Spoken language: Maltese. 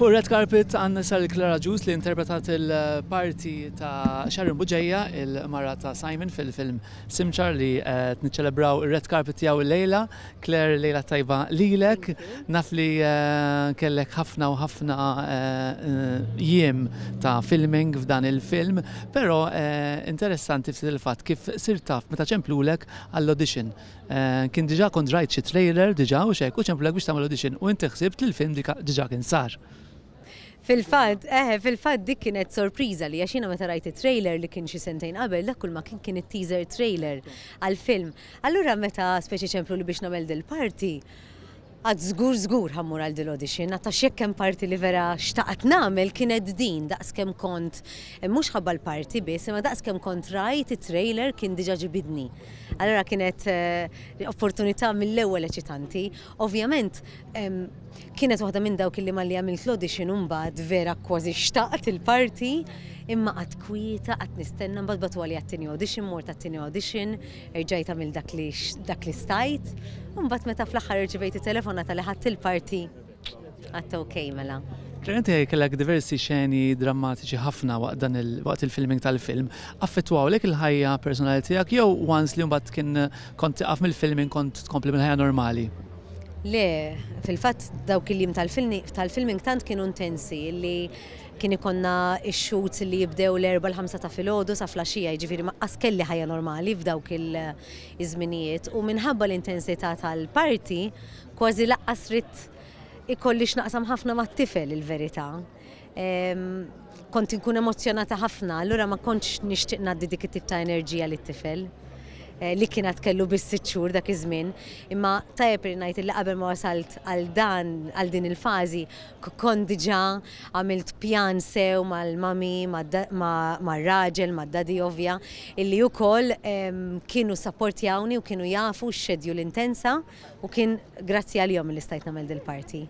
Fuq red carpet għandna sal Clara Agius li interpretat il-parti ta' Sharon Bugeja, il-mara ta' Simon fil-film Simċar li qed niċċelebraw ir-red carpet tiegħu llejla. Claire, lejla tajba lilek. Naf li kellek ħafna u ħafna jiem ta' filming f'dan il-film, però interessanti ftit il-fatt kif sirt taf meta ċemplulek għall-audition. Kien diġà kont rajt xi trailer diġà u x'hekk u ċemplulek biex tagħmel audition u inti ħsibt li l-film diġà kien sar. Fil-fatt, eħe, fil-fatt dik kienet sorpriża li għax jiena meta rajt it-trailer li kien xi sentejn qabel dak kull ma kien kien it-teaser trailer għall-film. Allura meta speċi ċempluli biex nagħmel dil-parti, għad żgur żgur ħa mmur għal dil-audition, għad għax jekk hemm parti li vera xtaqt nagħmel kienet din daqs kemm kont, mhux ħabba l-parti biss, imma daqs kemm kont rajt it-trailer kien diġà ġibidni. Allura kienet opportunità mill-ewwel eċitanti. Ovvjament kienet waħda minn dawk li malli għamilt l-audition u mbagħad vera kważi xtaqt il-parti, imma qatt kwieta, qatt nistenna, mbagħad bagħtuha għat-tieni audition, mort għat-tieni audition, Erġajt għamilt dak li dak li stajt, u mbagħad meta fl-aħħar irċivejt it-telefonata li ħadt il-parti, għedt ok mela. Claire, inti kellek diversi xeni drammatiċi ħafna waqt dan il waqt il-filming tal-film. Affettwawlek il-ħajja personali tiegħek jew once li mbagħad kien kont tieqaf mill-filming kont tkompli mill-ħajja normali? Le, fil-fatt dawk il-jiem tal-filming tant kienu intensi li Kien ikollna x-shoots li jibdew l-erbgħa l-ħamsa ta' filgħodu sa flaxija, jiġifieri ma qas kelli ħajja normali f'dawk iż-żminijiet u minħabba l-intensità tal-parti kważi laqqas ridt ikolli x'naqsam ħafna mat-tifel il-verità. Kont inkun emozzjonata ħafna, allura ma kontx nixtieq ngħaddi dik it-tip ta' enerġija lit-tifel li kien għad kellu biss sitt xhur dak iż-żmien. Imma tajjeb li ngħid li qabel ma wasalt għal dan għal din il-fażi Kont diġà għamilt pjan sew mal-mummy, mar-raġel, mad-daddy ovvja, illi wkoll kienu ssapportjawni u kienu jafu x-schedule intensa u kien grazzi għalihom illi stajt nagħmel dil-parti.